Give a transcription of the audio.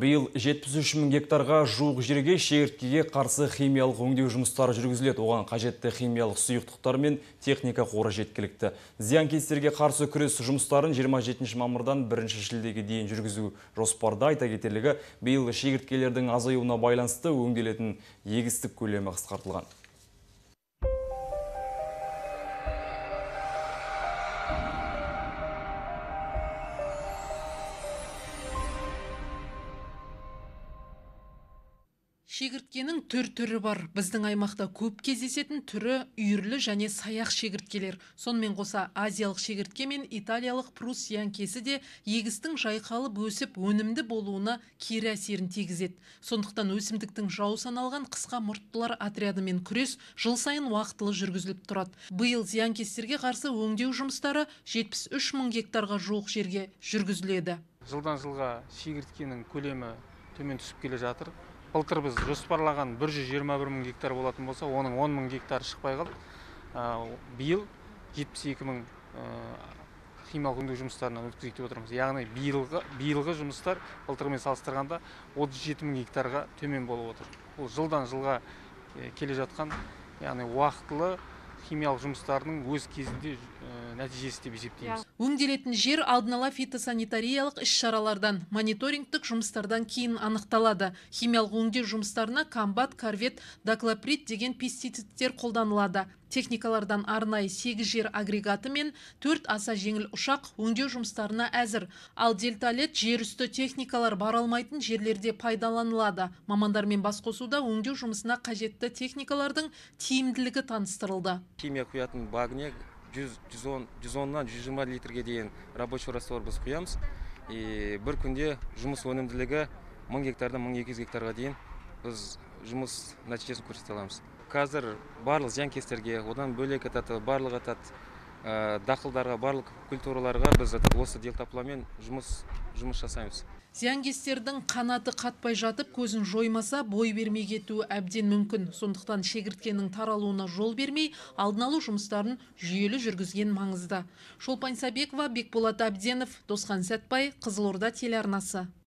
Биыл 73 мың гектарға жуық жерге шегірткеге қарсы химиялық өңдеу жұмыстары жүргізіледі. Оған қажетті химиялық сұйықтықтар мен техника қоры жеткілікті. Зиянкестерге қарсы күрес жұмыстарын 27 мамырдан 1 шілдеге дейін жүргізу жоспарда. Айта кетерлігі, биыл шегірткелердің азаюына байланысты өңделетін егістік көлемі қысқартылған. Шегірткенің түрі бар. Біздің аймақта көп кездесетін түрі үйірлі және саяқ шегірткелер. Сонымен қоса азиялық шегіртке мен италиялық прус зиянкесі де егістің жайқалып өсіп өнімді болуына кері әсерін тигізеді. Сондықтан өсімдіктің жау саналған қысқа мұрттылар отрядымен күрес жыл сайын уақытылы жүргізіліп тұрады. Биыл зиянкестерге қарсы өңдеу жұмыстары 73 мың гектарға жуық жерге жүргізіледі. Жылдан жылға шегірткенің көлемі төмен түсіп келе жатыр. Былтыр біз жоспарлаған 121 мың гектар болатын болса, оның 10 мың гектар шықпай қалды. Биыл 72 мың химиялық өңдеу жұмыстарынан өткізейік деп отырмыз. Яғни биылғы жұмыстар былтырмен салыстырғанда 37 мың гектарға төмен болып отыр. Бұл жылдан жылға келе жатқан, яғни уақытылы химиялық жұмыстарының өз кезінде нәтижесі деп есептейміз. Өңделетін жер алдын ала фитосанитариялық іс-шаралардан, мониторингтік жұмыстардан кейін анықталады. Химиялық өңдеу жұмыстарына комбат, корвет, доклоприд деген пестицидтер қолданылады. Техникалардан арнайы 8 жер агрегаты мен 4 аса жеңіл ұшақ өңдеу жұмыстарына әзір. Ал дельталет жер үсті техникалар бара алмайтын жерлерде пайдаланылады. Мамандармен бас қосуда өңдеу жұмысына қажетті техникалардың тиімділігі таныстырылды. Химия құятын багіне 110-нан 120 литрге дейін рабочий раствор біз құямыз. Бір күнде жұмыс өнімділігі 1000 гектардан 1200 гектарға дейін біз жұмыс нәтижесін көрсете аламыз. Қазір барлық зиянкестерге, одан бөлек барлық дақылдарға, барлық культураларға біз осы делтапламен жұмыс жасаймыз. Зиянкестердің қанаты қатпай жатып, көзін жоймаса, бой бермей кетуі әбден мүмкін. Сондықтан шегірткенің таралуына жол бермей, алдын алу жұмыстарын жүйелі жүргізген маңызды. Шолпан Сабекова, Бекболат Абденов, Досхан Сәтбай, Қызылорда телеарнасы.